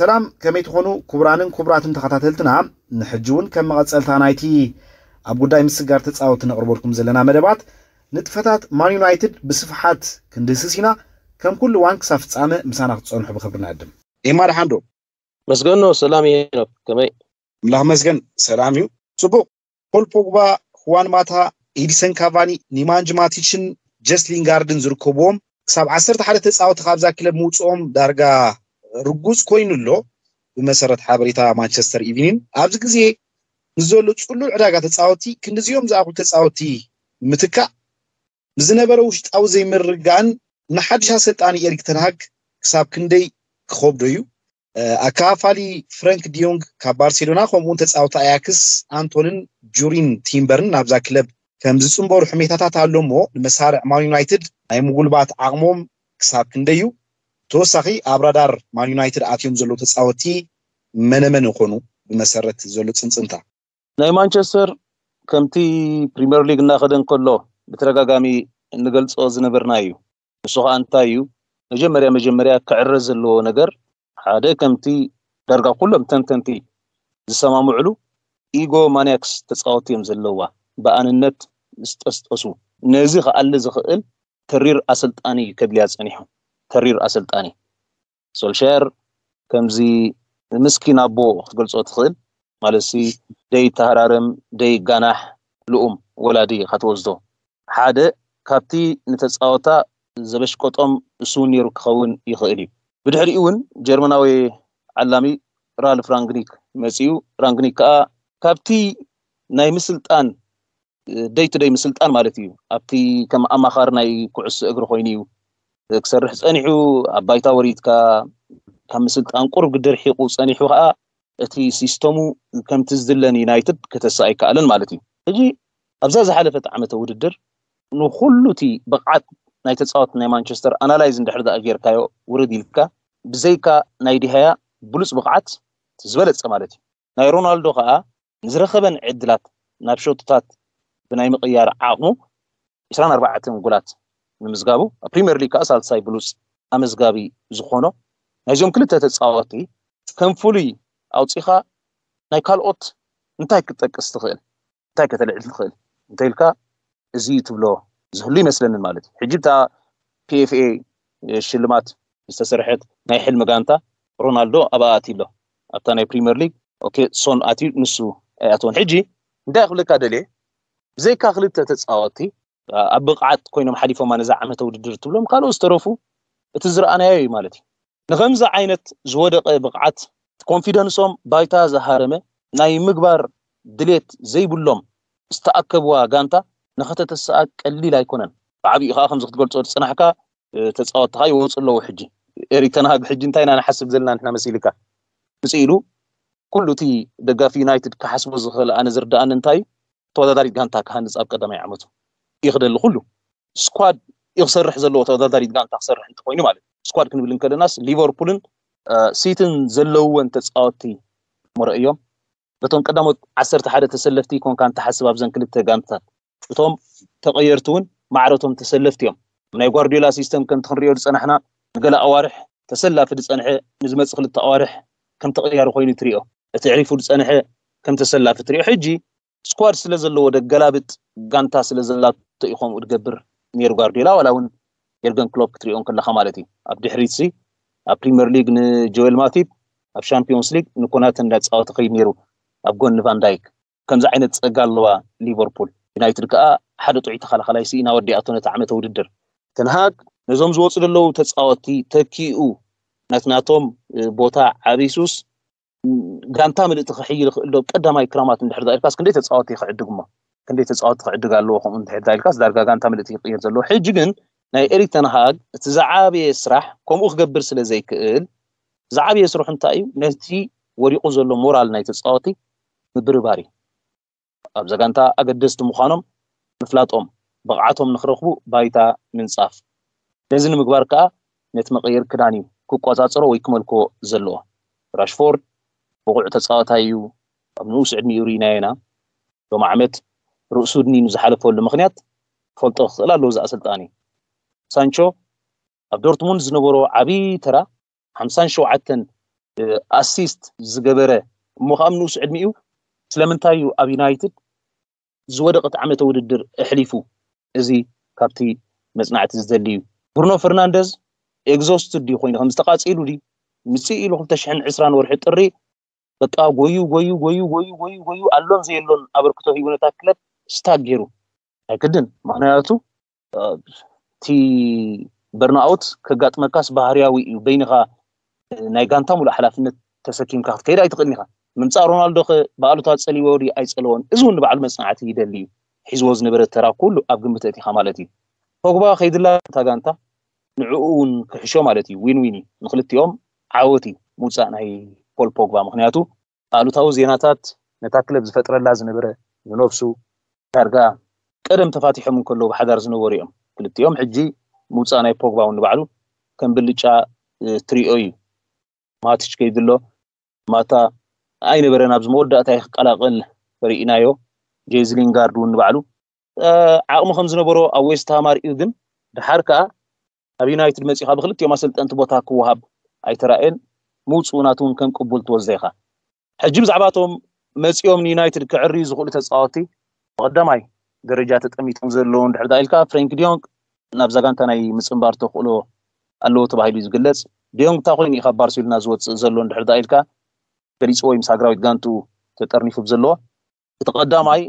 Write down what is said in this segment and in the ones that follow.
ሰላም፣ ከመይ ትኾኑ ክቡራንን ክቡራትን ተኸታተልትና? ንሕጂ እውን ከም መቐጸልታ ናይቲ ኣብ ጉዳይ ምስጋር ተጻወቲ ነቕርበልኩም ዘለና መደባት፣ ንጥፈታት ማን ዩናይትድ ብስፍሓት ክንድህስስ ኢና። ከም ኩሉ እዋን ክሳብ ፍጻመ ምሳና ክትጸንሑ ብኽብሪ ንዕድም። ኤማ ደሓን ዶ? መስገኖ ሰላም ሄኖክ፣ ከመይ? ኣምላኽ መስገን ሰላም እዩ። ጽቡቕ። ፖል ፖግባ፣ ሁዋን ማታ፣ ኤዲሰን ካቫኒ፣ ኒማንጅ ማቲችን ጀስ ሊንጋርድን ዝርከብዎም ክሳብ ዓሰርተ ሓደ ተጻወቲ ካብዛ ክለብ ምውጽኦም ዳርጋ ርጉጽ ኮይኑ ኣሎ። ብመሰረት ሓበሬታ ማንቸስተር ኢቪኒን ኣብዚ ግዜ ንዘሎ ጽሉል ዕዳጋ ተጻወቲ ክንዲዚኦም ዝኣኽሉ ተጻወቲ ምትካእ ንዝነበረ ውሽጣዊ ዘይምርግጋእን ንሓድሽ ኣሰልጣኒ ኤሪክ ተንሃግ ክሳብ ክንደይ ክኸብዶ እዩ። ኣካፋሊ ፍረንክ ዲዮንግ ካብ ባርሴሎና ከምኡውን ተጻወቲ ኣያክስ ኣንቶንን ጁሪን ቲምበርን ናብዛ ክለብ ከም ዝጽንበሩ ሕሜታታት ኣሎ እሞ ንመሳርዕ ማን ዩናይትድ ናይ ምጉልባት ዓቕሞም ክሳብ ክንደይ እዩ? ተወሳኺ ኣብ ራዳር ማን ዩናይትድ ኣትዮም ዘለዉ ተጻወቲ መነመን ይኾኑ? ብመሰረት ዘሎ ጽንጽንታ ናይ ማንቸስተር ከምቲ ፕሪምየር ሊግ እናኸደ እንከሎ ብተደጋጋሚ እንገልጾ ዝነበርና እዩ። ንሱ ከዓ እንታይ እዩ? መጀመርያ መጀመርያ ክዕረ ዘለዎ ነገር ሓደ ከምቲ ዳርጋ ኩሎም ተንተንቲ ዝሰማምዕሉ ኢጎ ማንያክስ ተጻወቲ እዮም ዘለዋ። ብኣንነት ዝጠስጠሱ፣ ነዚ ክኣሊ ዝኽእል ተሪር ኣሰልጣኒ እዩ ከድልያ ጸኒሑ። ተሪር ኣሰልጣኒ ሶልሻየር ከምዚ ምስኪን ኣቦ ክትገልጾ ትኽእል። ማለት ሲ ደይ ተሃራረም ደይ ጋናሕ ልኡም ወላዲ ኢኻ ትወስዶ። ሓደ ካብቲ ንተጻወታ ዘበሽቀጦም እሱ እውን ነይሩ ክኸውን ይኽእል እዩ። ብድሕሪኡ እውን ጀርመናዊ ዓላሚ ራልፍ ራንግኒክ መጺኡ። ራንግኒክ ከኣ ካብቲ ናይ ምስልጣን ደይ ቱ ደይ ምስልጣን ማለት እዩ። ኣብቲ ከም ኣማኻሪ ናይ ኩዕሶ እግሪ ኮይኑ እዩ ክሰርሕ ጸኒሑ። ኣብ ባይታ ወሪድካ ካብ ምስልጣን ቁሩብ ግድር ሒቑ ጸኒሑ ከዓ እቲ ሲስተሙ ከምቲ ዝድለ ንዩናይትድ ከተስእ ኣይከኣለን ማለት እዩ። ሕጂ ኣብዛ ዝሓለፈት ዓመተ ውድድር ንኹሉ እቲ ብቕዓት ናይ ተጻወት ናይ ማንቸስተር ኣናላይዝ እንድሕር ደኣ ጌርካዮ ውርድ ኢልካ ብዘይካ ናይ ዲሃያ ብሉጽ ብቕዓት ዝበለጸ ማለት እዩ። ናይ ሮናልዶ ከዓ ንዝረኸበን ዕድላት ናብ ሸቶታት ብናይ ምቕያር ዓቕሙ ዕስራን ኣርባዕተን ጎላት ንምዝጋቡ ኣብ ፕሪምየር ሊግ ከዓ ሳልሳይ ብሉፅ ኣመዝጋቢ ዝኾኖ ናይዞም ክልተ ተፃወቲ ከም ፍሉይ ኣውፂኻ ናይ ካልኦት እንታይ ክትጠቅስ ትኽእል? እንታይ ከተልዕል ትኽእል እንተኢልካ እዚ እዩ ትብሎ ዝህሉ ይመስለንን ማለት እዩ። ሕጂ እታ ፒኤፍኤ ሽልማት ዝተሰርሐት ናይ ሕልሚ ጋንታ ሮናልዶ ኣብኣ ኣትዩ ኣሎ። ኣብታ ናይ ፕሪምየር ሊግ ኦኬ ሶን ኣትዩ ንሱ ኣይኣተወን። ሕጂ እንታይ ክብለካ ደልየ ብዘይካ ክልተ ተፃወቲ ኣብ ብቕዓት ኮይኖም ሓሊፎማ ነዛ ዓመተ ውድድር ትብሎም ካልኦት ዝተረፉ እቲ ዝረኣናዮ እዩ ማለት እዩ። ንኸምዚ ዓይነት ዝወደቐ ብቕዓት ኮንፊደንሶም ባይታ ዝሃረመ ናይ ምግባር ድሌት ዘይብሎም ዝተኣከብዋ ጋንታ ንኸተተስኣ ቀሊል ኣይኮነን። ብዓብኡ ከዓ ከምዚ ክትገልፆ ዝፅናሕካ ተፃወትኻ ይወፁ ኣለዉ። ሕጂ ኤሪክ ተንሃግ ሕጂ እንታይ ኢና ንሓስብ ዘለና ንሕና መሲልካ ምፅእ ኢሉ ኩሉ እቲ ደጋፊ ዩናይትድ ክሓስቦ ዝኽእል ኣነ ዝርድኣኒ እንታይ እዩ ተወዳዳሪት ጋንታ ክሃንፅ ኣብ ቀዳማይ ዓመቱ ይኽደሊ ኩሉ ስኳድ ይክሰርሕ ዘለዎ ተወዳዳሪት ጋንታ ክሰርሕ እንተኮይኑ ማለት እዩ። ስኳድ ክንብል እንከለናስ ሊቨርፑልን ሲትን ዘለውወን ተፃወትቲ መረእዮም በቶም ቀዳሞት ዓሰርተ ሓደ ተሰለፍቲ ኮንካ እንተሓስብ ኣብዘን ክልተ ጋንታታት እቶም ተቐየርቲ እውን ማዕረቶም ተሰለፍቲ እዮም። ናይ ጓርዲዮላ ሲስተም ከምቲ ክንሪኦ ዝፀናሕና ንገለ ኣዋርሕ ተሰላፊ ዝፀንሐ ንዝመፅእ ክልተ ኣዋርሕ ከም ተቐያሪ ኮይኑ ትሪኦ፣ እቲ ዕሪፉ ዝፀንሐ ከም ተሰላፊ ትሪኦ። ሕጂ ስኳድ ስለ ዘለዎ ደገላብጥ ጋንታ ስለ ዘላቶ እዩ ከምኡ ዝገብር ነይሩ ጓርዲዮላ ዋላ እውን የርገን ክሎፕ ክትሪኦ እንከለኻ ማለት እዩ። ኣብ ድሕሪት ሲ ኣብ ፕሪምየር ሊግ ንጆኤል ማቲፕ ኣብ ሻምፒዮንስ ሊግ ንኮናተ እንዳተፃወተ ከይድ ነይሩ ኣብ ጎኒ ቫንዳይክ። ከምዚ ዓይነት ፀጋ ኣለዋ ሊቨርፑል። ዩናይትድ ከዓ ሓደ ጥዑይ ተኸላኸላይ ስኢና ወዲኣቶ ነቲ ዓመተ ውድድር። ተንሃግ ነዞም ዝወፁ ዘለዉ ተፃወትቲ ተኪኡ ናትናቶም ቦታ ዓቢሱስ ጋንታ ምልእቲ ክሕይል ይኽእል ዶ ቀዳማይ ክራማት እንድሕር ዳኢልካስ ክንደይ ተፃወቲ ክዕድግ እሞ ክንደይ ተፃወቲ ክዕድግ ኣለዎ ከምኡ እንድሕር ዳኢልካስ ዳርጋ ጋንታ ምልእቲ ይቕየር ዘለዎ። ሕጂ ግን ናይ ኤሪክ ተንሃግ እቲ ዝዓበየ ስራሕ ከምኡ ክገብር ስለ ዘይክእል ዝዓበየ ስርሑ እንታይ እዩ? ነቲ ወዲቑ ዘሎ ሞራል ናይ ተፃወቲ ምብርባር እዩ። ኣብዛ ጋንታ ኣገደስቲ ምዃኖም ምፍላጦም፣ ብቕዓቶም ንኽረኽቡ ባይታ ምንጻፍ። ነዚ ንምግባር ከኣ ነቲ መቐየሪ ክዳን እዩ ክቆጻጸሮ ወይ ክመልኮ ዘለዎ። ራሽፎርድ ብቑዕ ተጻዋታይ እዩ፣ ኣብ ንኡስ ዕድሚኡ ርኢናዮ ኢና። ሎሚ ዓመት ርእሱ ድኒኑ ዝሓለፈሉ ምኽንያት ክፈልጦ ክኽእል ኣለዎ እዚ ኣሰልጣኒ። ሳንቾ ኣብ ዶርትሙንድ ዝነበሮ ዓቢ ተራ ሓምሳን ሸውዓተን ኣሲስት ዝገበረ እሞ ከዓ ንኡስ ዕድሚኡ ስለምንታይ እዩ ኣብ ዩናይትድ ዝወደቐት ዓመተ ውድድር ኣሕሊፉ? እዚ ካብቲ መፅናዕቲ ዝደሊ እዩ። ብሩኖ ፈርናንደዝ ኤግዞስትድ ድዩ ኮይኑ ከም ዝተቃፂሉ ድዩ ምፅእ ኢሉ ክልተ ሽሕን ዕስራን ወርሒ ጥሪ በቃ ጎዩ ጎዩ ጎዩ ጎዩ ጎዩ ጎዩ ኣሎን ዘየሎን ኣበርክቶ ሂቡ ነታ ክለብ ስታክ ገይሩ ኣይክድን። ምክንያቱ እቲ በርንኣውት ከጋጥመካስ ባህርያዊ እዩ። በይንኻ ናይ ጋንታ ሙሉእ ሓላፍነት ተሰኪምካ ክትከይድ ኣይትኽእልን ኢኻ። ምምፃእ ሮናልዶ ከ ብኣሉታ ፀሊዎ ድዩ ኣይፀለዎን? እዚ እውን ንባዕሉ መፅናዕቲ ይደሊ እዩ። ሒዝዎ ዝነበረ ተራ ኩሉ ኣብ ግምት ኣእቲኻ ማለት እዩ። ፖግባ ከይድላ እታ ጋንታ ንዕኡ እውን ክሕሾ ማለት እዩ። ዊን ዊን እዩ ንክልቲኦም። ዓወት እዩ ምውፃእ ናይ ፖል ፖግባ። ምክንያቱ ኣሉታዊ ዜናታት ነታ ክለብ ዝፈጥረላ ዝነበረ ንነብሱ ዳርጋ ቀደም ተፋቲሖም እንከለዉ ብሓዳር ዝነበሩ እዮም ክልቲኦም። ሕጂ ምውፃእ ናይ ፖግባ እውን ንባዕሉ ከም ብልጫ ትሪኦ እዩ። ማቲች ከይድሎ ማታ ኣይነበረን ኣብዚ መወዳእታ ክቀላቀል ርኢናዮ። ጄዚ ሊንጋርድ እውን ንባዕሉ ዓቕሚ ከም ዝነበሮ ኣብ ዌስትሃም ኣርእዩ፣ ግን ድሓር ከዓ ኣብ ዩናይትድ መፂኻ ብክልቲኦም ኣሰልጠንቲ ቦታ ክወሃብ ኣይተራእየን። ምውፅኡ ናቱ እውን ከም ቅቡል ትወስዶ ኢኻ። ሕጂ ብዛዕባቶም መፂኦም ንዩናይትድ ክዕርዩ ዝኽእሉ ተፃወቲ ብቀዳማይ ደረጃ ተጠሚቶም ዘለዉ እንድሕር ኢልካ ፍሬንክ ዲዮንግ ናብዛ ጋንታ ናይ ምፅንባር ተኽእሎ ኣለዎ ተባሂሉ እዩ ዝግለፅ። ዲዮንግ እንታይ ኮይኑ እዩ ካብ ባርሴሎና ዝወፅእ ዘሎ እንድሕር ኢልካ ገሊፅዎ እዩ ምስ ሃገራዊት ጋንቱ ተጠርኒፉ ብዘለዎ። እቲ ቀዳማይ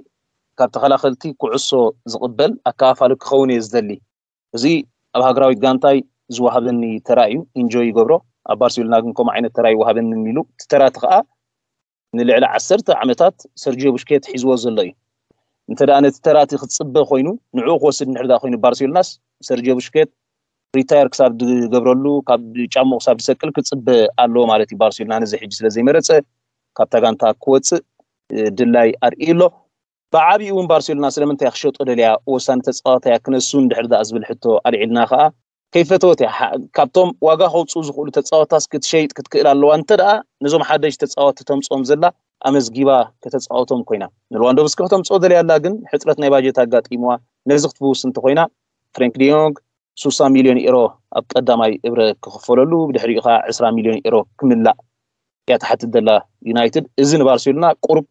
ካብ ተኸላኸልቲ ኩዕሶ ዝቕበል ኣከፋፋሊ ክኸውን እየ ዝደሊ። እዚ ኣብ ሃገራዊት ጋንታይ ዝወሃበኒ ተራ እዩ፣ ኢንጆይ ይገብሮ። ኣብ ባርሴሎና ግን ከምኡ ዓይነት ተራ ይወሃበኒ ኢሉ እቲ ተራ እቲ ከዓ ንልዕሊ ዓሰርተ ዓመታት ሰርጂዮ ቡሽኬት ሒዝዎ ዘሎ እዩ። እንተ ደኣ ነቲ ተራ እቲ ክጽበ ኮይኑ ንዕኡ ክወስድ እንድሕር ደኣ ኮይኑ ባርሴሎናስ ሰርጂዮ ቡሽኬት ሪታየር ክሳብ ዝገብረሉ ካብ ጫምኡ ክሳብ ዝሰቅል ክጽበ ኣለዎ ማለት እዩ። ባርሴሎና ነዚ ሕጂ ስለ ዘይመረጸ ካብታ ጋንታ ክወጽእ ድላይ ኣርእዩ ኣሎ። ብዓቢኡ እውን ባርሴሎና ስለምንታይ ክሸጦ ደልያ ወሳኒ ተጻዋታይ ክነሱ እንድሕር ደኣ ዝብል ሕቶ ኣልዒልና ከኣ ከይፈተወት እያ። ካብቶም ዋጋ ከውፅኡ ዝኽእሉ ተፃወትታስ ክትሸይጥ ክትክእል ኣለዋ። እንተ ደኣ ነዞም ሓደሽ ተፃወትቲ ተምፅኦም ዘላ ኣመዝጊባ ከተፃወቶም ኮይና ንልዋንዶቭስኪ ከተምፅኦ ደልያ ኣላ፣ ግን ሕፅረት ናይ ባጀት ኣጋጢምዋ ነዚ ክትፍውስ እንተኮይና ፍሬንክ ዲዮንግ ሱሳ ሚልዮን ኤሮ ኣብ ቀዳማይ እብረ ክኽፈለሉ ብድሕሪኡ ከዓ ዕስራ ሚልዮን ኤሮ ክምላእ እያ ትሓትት ዘላ ዩናይትድ። እዚ ንባርሴሎና ቁሩብ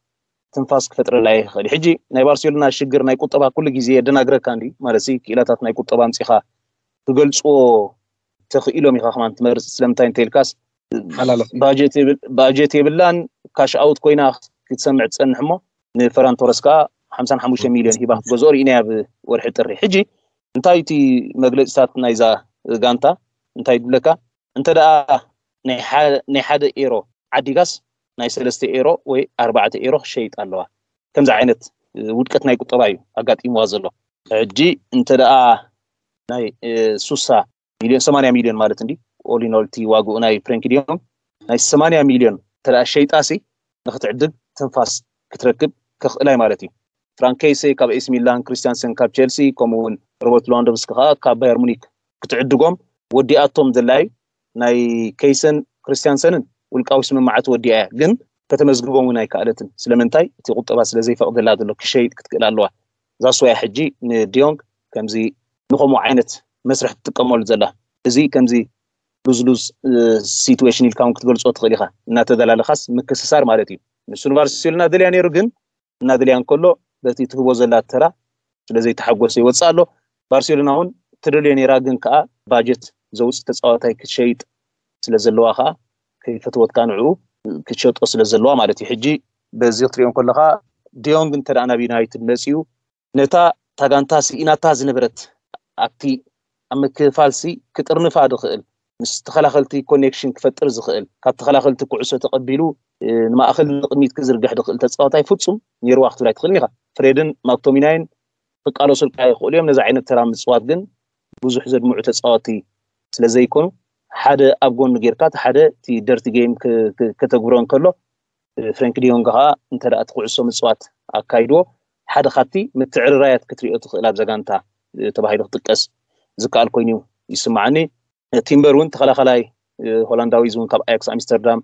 ትንፋስ ክፈጥረላ ይኽእል። ሕጂ ናይ ባርሴሎና ሽግር ናይ ቁጠባ ኩሉ ግዜ የደናግረካ እንዲ ማለት ክኢላታት ናይ ቁጠባ ኣምፂኻ ክገልፅዎ ተኽኢሎም ኢኻ ከማን ትመርፅ። ስለምንታይ እንተኢልካስ ባጀት የብላን፣ ካሽ ኣውት ኮይና ክትሰምዕ ትፀንሕ እሞ ንፈራን ቶረስ ከዓ ሓምሳን ሓሙሽተ ሚልዮን ሂባ ክትገዝኦ ርኢናያ ብወርሒ ጥሪ። ሕጂ እንታይ እቲ መግለፂታት ናይዛ ጋንታ እንታይ ይብለካ? እንተ ደኣ ናይ ሓደ ኤሮ ዓዲጋስ ናይ ሰለስተ ኤሮ ወይ ኣርባዕተ ኤሮ ክሸይጥ ኣለዋ። ከምዚ ዓይነት ውድቀት ናይ ቁጠባ እዩ ኣጋጢምዋ ዘሎ። ሕጂ እንተ ደኣ ናይ ሱሳ ሚልዮን ሰማንያ ሚልዮን ማለት እንዲ ኦሊኖልቲ ዋግኡ ናይ ፍሬንኪ ዲዮን ናይ ሰማንያ ሚልዮን እንተ ደኣ ሸይጣሲ ንክትዕድግ ትንፋስ ክትረክብ ከኽእላይ ማለት እዩ። ፍራንክ ኬይሴ ካብ ኤሲ ሚላን፣ ክሪስቲያንሰን ካብ ቼልሲ፣ ከምኡ እውን ሮበርት ሌዋንዶቭስኪ ከዓ ካብ ባየር ሙኒክ ክትዕድጎም ወዲኣቶም ዘላዩ ናይ ኬይሰን ክርስቲያንሰንን ውልቃዊ ስምምዓት ወዲኣ እያ፣ ግን ከተመዝግቦም እውን ኣይከኣለትን። ስለምንታይ? እቲ ቁጠባ ስለ ዘይፈቕደላ ዘሎ ክሸይጥ ክትክእል ኣለዋ። እዛ ስዋያ ሕጂ ንዲዮንግ ከምዚ ንኸምኡ ዓይነት መስርሕ ትጥቀመሉ ዘላ። እዚ ከምዚ ሉዝ ሉዝ ሲትዌሽን ኢልካ እውን ክትገልፆ ትኽእል ኢኻ። እናተደላለኻስ ምክስሳር ማለት እዩ። ንሱ ንባርሴሎና ደልያ ነይሩ፣ ግን እናደልያ እንከሎ በቲ ትህቦ ዘላ ተራ ስለ ዘይተሓጎሰ ይወፅእ ኣሎ። ባርሴሎና እውን ትደልዮ ነይራ፣ ግን ከዓ ባጀት ዘውፅእ ተፃዋታይ ክትሸይጥ ስለ ዘለዋ ከዓ ከይፈትወትካ ንዕኡ ክትሸጦ ስለ ዘለዋ ማለት እዩ። ሕጂ በዚ ክትሪኦ ከለካ ዲዮንግ እንተ ደኣ ናብ ዩናይትድ መፂኡ ነታ ታጋንታ ስኢናታ ዝነበረት ኣብቲ ኣብ ምክፍፋልሲ ክጥርንፋ ድኽእል ምስ ተኸላኸልቲ ኮኔክሽን ክፈጥር ዝኽእል ካብ ተኸላኸልቲ ኩዕሶ ተቐቢሉ ንማእኸል ንቕድሚት ክዝርግሕ ድኽእል ተፃዋታይ ፍፁም ነይርዋ ክትብል ኣይትኽእልን ኢኻ። ፍሬድን ማክቶሚናይን ክቃለሱልካ ይኽእሉ እዮም። ነዚ ዓይነት ተራ ምፅዋት ግን ብዙሕ ዘድምዑ ተፃወቲ ስለ ዘይኮኑ ሓደ ኣብ ጎኑ ጌርካ እቲ ሓደ እቲ ደርቲ ጌም ከተግብሮ እንከሎ ፍሬንክ ዲዮንግ ከዓ እንተ ደኣ እቲ ኩዕሶ ምፅዋት ኣካይድዎ ሓደ ካብቲ ምትዕርራያት ክትሪኦ ትኽእል ኣብዛ ጋንታ ተባሂሉ ክጥቀስ ዝከኣል ኮይኑ ይስማዓኒ። ቲምበር እውን ተኸላኸላይ ሆላንዳዊ እውን ካብ ኣያክስ ኣምስተርዳም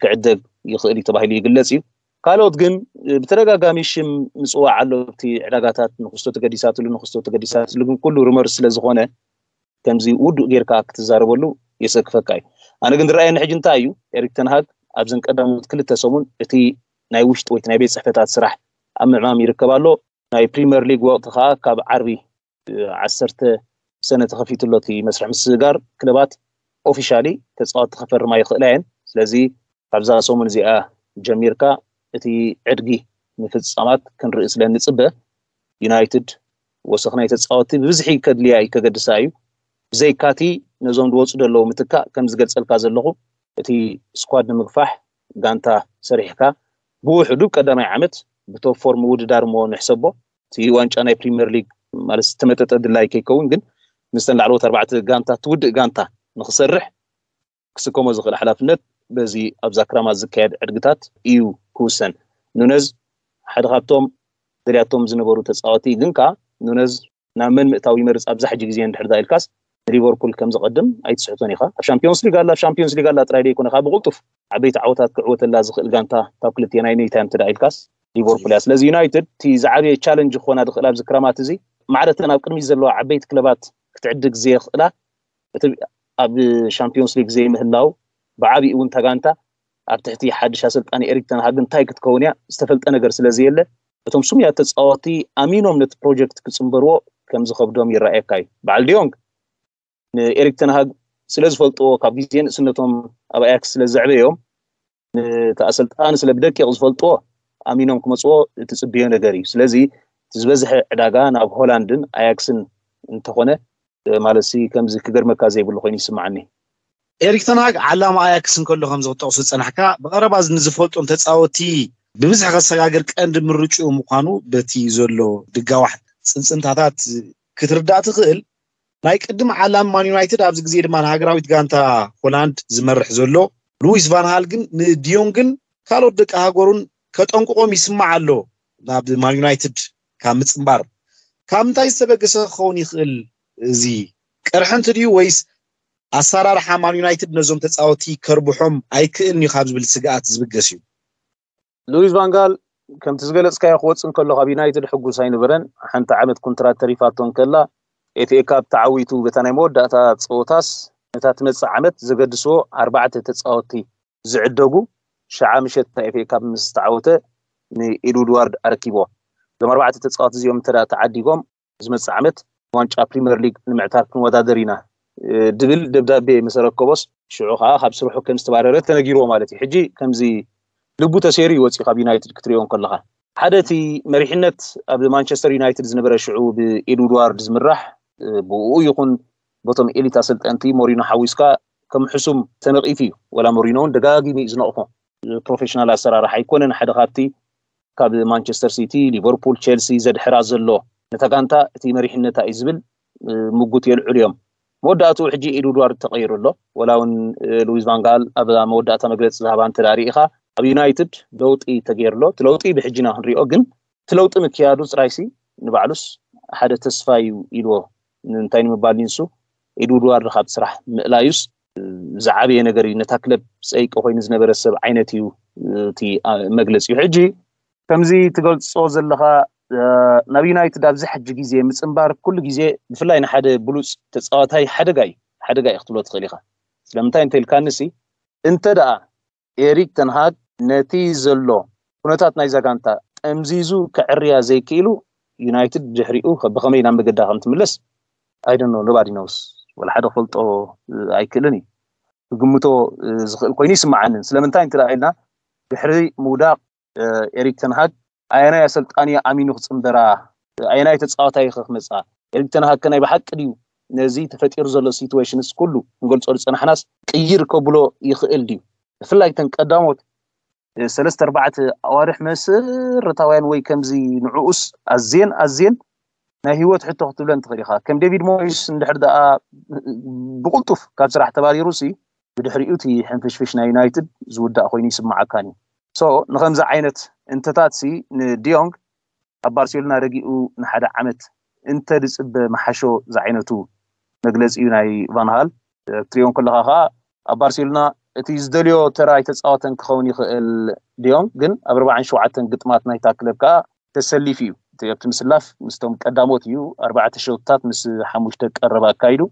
ክዕደግ ይኽእል እዩ ተባሂሉ ይግለጽ እዩ። ካልኦት ግን ብተደጋጋሚ ሽም ምጽዋዕ ኣሎ ኣብቲ ዕዳጋታት ንክስቶ ተገዲሳትሉ ንክስቶ ተገዲሳትሉ ግን ኩሉ ሩመር ስለ ዝኾነ ከምዚ ውዱእ ጌርካ ክትዛረበሉ የሰክፈካ እዩ። ኣነ ግን ዝረኣየኒ ሕጂ እንታይ እዩ፣ ኤሪክ ተንሃግ ኣብዘን ቀዳሞት ክልተ ሰሙን እቲ ናይ ውሽጢ ወይ ናይ ቤት ጽሕፈታት ስራሕ ኣብ ምዕማም ይርከብ ኣሎ። ናይ ፕሪምየር ሊግ ወቕቲ ከዓ ካብ ዓርቢ ዓሰርተ ሰነ ተኸፊቱ ኣሎ እቲ መስርሕ ምስግጋር። ክለባት ኦፊሻሊ ተፃወቲ ክፈርማ ይኽእላ እየን። ስለዚ ካብዛ ሰሙን እዚኣ ጀሚርካ እቲ ዕድጊ ምፍፃማት ክንርኢ ስለ ንፅበ፣ ዩናይትድ ወሰኽ ናይ ተፃወቲ ብብዝሒ ከድልያ እዩ፣ ከገድሳ እዩ። ብዘይካቲ ነዞም ዝወፁ ዘለዉ ምትካእ ከም ዝገልፀልካ ዘለኹ እቲ ስኳድ ንምግፋሕ ጋንታ ሰሪሕካ ብውሕዱ ቀዳማይ ዓመት ብቶፕ ፎር ምውድዳር እሞ ንሕሰቦ። እቲ ዋንጫ ናይ ፕሪምየር ሊግ ማለት ዝተመጠጠ ድላይ ከይከውን ግን ምስተን ላዕለዎት ኣርባዕተ ጋንታ ትውድእ ጋንታ ንክሰርሕ ክስከሞ ዝኽእል ሓላፍነት በዚ ኣብዛ ክራማት ዝካየድ ዕድግታት እዩ ክውሰን። ኑነዝ ሓደ ካብቶም ደልያቶም ዝነበሩ ተፃወቲ ግን ከዓ ኑነዝ ናብ መን ምእታው ይመርፅ ኣብዛ ሕጂ ግዜ እንድሕር ዳ ኢልካስ ንሊቨርፑል ከም ዘቐድም ኣይትስሕቶን ኢኻ። ኣብ ሻምፒዮንስ ሊግ ኣላ፣ ኣብ ሻምፒዮንስ ሊግ ኣላ ጥራይ ደይኮነ ካብ ብቕልጡፍ ዓበይቲ ዓወታት ክዕወተላ ዝኽእል ጋንታ ካብ ክልቲኤን ኣይነይታ እዮም ትዳ ኢልካስ ሊቨርፑል እያ። ስለዚ ዩናይትድ እቲ ዝዓበየ ቻለንጅ ክኾና ዝኽእል ኣብዚ ክራማት እዚ ማዕረተን ኣብ ቅድሚት ዘለዋ ዓበይቲ ክለባት ክትዕድግ ዘየኽእላ እቲ ኣብ ሻምፒዮንስ ሊግ ዘይምህላው ብዓቢኡ እውን ተጋንታ ኣብ ትሕቲ ሓድሽ ኣሰልጣኒ ኤሪክ ተንሃግ እንታይ ክትከውን እያ ዝተፈልጠ ነገር ስለ ዘየለ እቶም ስሙያት ተፃወቲ ኣሚኖም ነቲ ፕሮጀክት ክፅንበርዎ ከም ዝኸብዶም ይረኣየካ እዩ። በዓል ዲዮንግ ንኤሪክ ተንሃግ ስለ ዝፈልጥዎ ካብ ግዜ ንእስነቶም ኣብ ኣያክስ ስለ ዘዕበዮም ነቲ ኣሰልጣኒ ስለ ብደቂቕ ዝፈልጥዎ ኣሚኖም ክመፅዎ እትፅብዮ ነገር እዩ። ስለዚ እቲ ዝበዝሐ ዕዳጋ ናብ ሆላንድን ኣያክስን እንተኾነ ማለት ሲ ከምዚ ክገርመካ ዘይብሉ ኮይኑ ይስማዓኒ። ኤሪክ ተንሃግ ዓላማ ኣያክስ እንከሎ ከም ዝጠቕሱ ዝጸናሕካ ብቐረባ ንዝፈልጦም ተጻወቲ ብብዝሒ ከሰጋግር ቀንዲ ምርጭኡ ምዃኑ በቲ ዘሎ ድጋዋሕ ጽንጽንታታት ክትርዳእ ትኽእል። ናይ ቅድም ዓላም ማን ዩናይትድ ኣብዚ ግዜ ድማ ንሃገራዊት ጋንታ ሆላንድ ዝመርሕ ዘሎ ሉዊስ ቫንሃል ግን ንዲዮንግን ካልኦት ደቂ ሃገሩን ከጠንቅቖም ይስማዕ ኣሎ ናብ ማን ዩናይትድ ካብ ምጽንባር። ካብ ምንታይ ዝተበገሰ ክኸውን ይኽእል? እዚ ቅርሕንቲ ድዩ ወይስ ኣሰራርሓ ማን ዩናይትድ ነዞም ተጻወቲ ከርብሖም ኣይክእልን እዩ ካብ ዝብል ስግኣት ዝብገስ እዩ? ሉዊስ ቫንጋል ከምቲ ዝገለጽካዮ ክወጽእ እንከሎ ካብ ዩናይትድ ሕጉስ ኣይነበረን። ሓንቲ ዓመት ኮንትራት ተሪፋቶ እንከላ ኤፍኤ ካፕ ተዓዊቱ በታ ናይ መወዳእታ ጸወታስ ነታ ትመጽእ ዓመት ዘገድስዎ ኣርባዕተ ተጻወቲ ዝዕደጉ ሽዓ ምሸት ናይ ኤፍኤ ካፕ ምስ ተዓወተ ንኤድዋርድ ኣረኪብዎ። እዞም ኣርባዕተ ተጻወቲ እዚኦም እንተ ተዓዲጎም ዝመጽእ ዓመት ዋንጫ ፕሪምየር ሊግ ንምዕታር ክንወዳደር ኢና ድብል ደብዳቤ ምስ ኣረከቦስ ሽዑ ከዓ ካብ ስርሑ ከም ዝተባረረ ተነጊርዎ ማለት እዩ። ሕጂ ከምዚ ልቡ ተሰይሩ ይወፅእ ካብ ዩናይትድ ክትሪኦ እንከለካ ሓደ እቲ መሪሕነት ኣብ ማንቸስተር ዩናይትድ ዝነበረ ሽዑ ብኤድዋርድ ዝምራሕ ብኡ ይኹን በቶም ኤሊት ኣሰልጠንቲ ሞሪኖ ሓዊስካ ከም ሕሱም ተነቒፉ እዩ። ወላ ሞሪኖ እውን ደጋጊሙ እዩ ዝነቕፎ። ፕሮፌሽናል ኣሰራርሓ ኣይኮነን። ሓደ ካብቲ ካብ ማንቸስተር ሲቲ፣ ሊቨርፑል፣ ቸልሲ ዘድሕራ ዘሎ ነታ ጋንታ እቲ መሪሕነታ እዩ ዝብል ምጉት የልዕሉ እዮም። መወዳእትኡ ሕጂ ኤድዋርድ ተቐይሩ ኣሎ። ወላ እውን ሉዊስ ቫንጋል ኣብ መወዳእታ መግለፂ ዝሃባ እንተ ርኢኻ ኣብ ዩናይትድ ለውጢ ተገይሩ ኣሎ። እቲ ለውጢ ብሕጂና ክንሪኦ ግን እቲ ለውጢ ምክያዱ ፅራይሲ ንባዕሉስ ሓደ ተስፋ እዩ ኢልዎ። እንታይ ንምባል ንሱ ኤድዋርድ ካብ ስራሕ ምእላዩስ ዝዓበየ ነገር እዩ። ነታ ክለብ ፀይቂ ኮይኑ ዝነበረ ሰብ ዓይነት እዩ እቲ መግለፂ እዩ። ሕጂ ከምዚ ትገልፆ ዘለኻ ናብ ዩናይትድ ኣብዚ ሕጂ ግዜ ምፅንባር ኩሉ ግዜ ብፍላይ ንሓደ ብሉፅ ተፃዋታይ ሓደጋ እዩ። ሓደጋ እዩ ክትብሎ ትኽእል ኢኻ። ስለምንታይ እንተ ኢልካንሲ እንተ ደኣ ኤሪክ ተንሃግ ነቲ ዘሎ ኩነታት ናይዛ ጋንታ ጠምዚዙ ክዕርያ ዘይክኢሉ ዩናይትድ ድሕሪኡ ብኸመይ ናብ መገዳ ከም ትምለስ ኣይደኖ ኖባዲ ነውስ ወላ ሓደ ክፈልጦ ኣይክእልን እዩ። ክግምቶ ዝኽእል ኮይኑ ይስምዓንን። ስለምንታይ እንተ ኢልና ድሕሪ ምውዳቕ ኤሪክ ተንሃግ ኣየናይ ኣሰልጣኒ ኣሚኑ ክፅንበራ ኣየናይ ተፃዋታይ ክመፃ ኤሪክ ተንሃግ ከናይ ብሓቂ ድዩ ነዚ ተፈጢሩ ዘሎ ሲትዌሽንስ ኩሉ ክንገልፆ ዝፀናሕናስ ቅይር ከብሎ ይኽእል ድዩ? ብፍላይ ተን ቀዳሞት ሰለስተ ኣርባዕተ ኣዋርሕ መሰረታውያን ወይ ከምዚ ንዕኡስ ኣዝየን ኣዝየን ናይ ህይወት ሕቶ ክትብለን ትኽእል ኢኻ። ከም ዴቪድ ሞይስ እንድሕር ደኣ ብቕልጡፍ ካብ ስራሕ ተባሪሩ ሲ ብድሕሪኡ እቲ ሕንፍሽፍሽ ናይ ዩናይትድ ዝውዳእ ኮይኑ ይስምዓካን እዩ። ሶ ንኸምዚ ዓይነት እንተታት ሲ ንዲዮንግ ኣብ ባርሴሎና ረጊኡ ንሓደ ዓመት እንተ ዝፅበ መሓሾ ዝዓይነቱ መግለፂ እዩ ናይ ቫንሃል። ክትሪኦ ከለኻ ከዓ ኣብ ባርሴሎና እቲ ዝደልዮ ተራ ኣይተፃወተን ክኸውን ይኽእል ዲዮንግ ግን ኣብ ኣርባዓን ሸውዓተን ግጥማት ናይታ ክለብ ከዓ ተሰሊፉ እዩ። እቲ ኣብቲ ምስላፍ ምስቶም ቀዳሞት እዩ። ኣርባዕተ ሸውትታት ምስ ሓሙሽተ ቀረባ ኣካይዱ።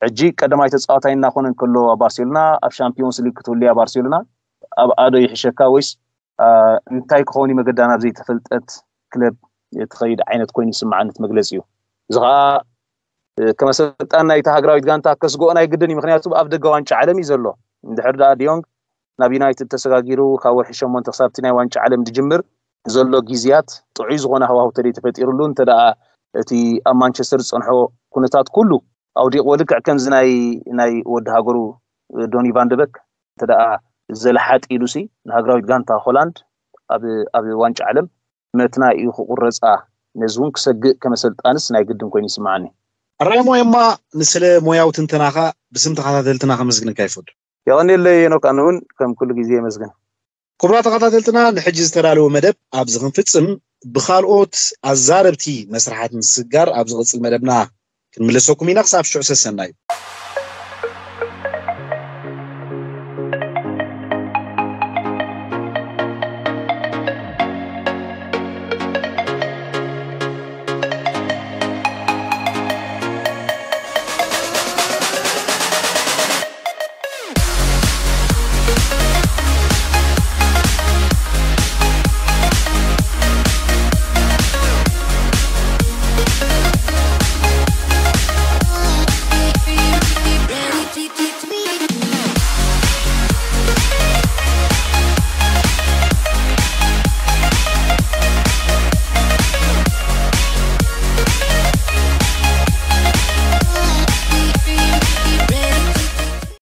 ሕጂ ቀዳማይ ተፃዋታይ እናኾነ እንከሎ ኣብ ባርሴሎና፣ ኣብ ሻምፒዮንስ ሊግ ክትህሉ እያ ባርሴሎና፣ ኣብ ኣዶ ይሕሸካ ወይስ እንታይ ክኸውን መገዳ ናብ ዘይተፈልጠት ክለብ ትኸይድ ዓይነት ኮይኑ ይስምዓኒ እቲ መግለፂ እዩ። እዚ ከዓ ከም ኣሰልጣን ናይታ ሃገራዊት ጋንታ ከስግኦ ናይ ግድን እዩ። ምክንያቱ ኣብ ደገ ዋንጫ ዓለም እዩ ዘሎ። እንድሕር ደኣ ዲዮንግ ናብ ዩናይትድ ተሰጋጊሩ ካብ ወርሒ ሸሞንተ ክሳብ እቲ ናይ ዋንጫ ዓለም ዝጅምር ዘሎ ግዜያት ጥዑይ ዝኾነ ሃዋሁ ተደይ ተፈጢሩሉ እንተ ደኣ እቲ ኣብ ማንቸስተር ዝፀንሖ ኩነታት ኩሉ ኣውዲቕዎ ልክዕ ከምዚ ናይ ናይ ወዲ ሃገሩ ዶኒ ቫንደበክ እንተ ደኣ ዘለሓጥ ኢሉሲ ንሃገራዊት ጋንታ ሆላንድ ኣብ ኣብ ዋንጫ ዓለም መትና እዩ ክቁረፃ። ነዚ እውን ክሰግእ ከመሰልጣንስ ናይ ግድን ኮይኑ ይስምዓኒ። ኣራሞ የማ ንስለ ሞያዊ ትንተናኻ ብስም ተኸታተልትና ከመስግንካ ይፈቱ። የቐንየለይ ኖክ ኣነ እውን ከም ኩሉ ግዜ የመስግን። ክቡራ ተኸታተልትና ንሕጂ ዝተዳለወ መደብ ኣብዚ ክንፍፅም ብካልኦት ኣዛረብቲ መስርሓት ምስጋር ኣብ ዝቕፅል መደብና ክንምለሰኩም ኢና። ክሳብ ሽዑ ሰሰናዩ።